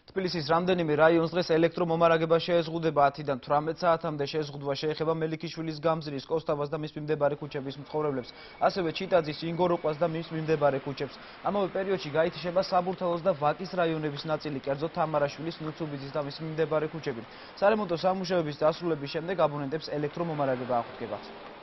თბილისის რამდენიმე რაიონს დღეს ელექტრომომარაგება შეეზღუდება 10-დან 18 საათამდე შეზღუდვა შეეხება მელიქიშვილის გამზირის, კოსტავას და მის მიმდებარე ქუჩების მცხოვრებლებს, ასევე ჩიტაძის, ინგოროყვას და მის მიმდებარე ქუჩებს. ამავე პერიოდში გაითიშება საბურთალოს და ვაკის რაიონების ნაწილი, კერძოდ თამარაშვილის, ნუცუბიძის და მის მიმდებარე ქუჩები. სარემონტო სამუშაოების დასრულების შემდეგ აბონენტებს ელექტრომომარაგება აღუდგებათ.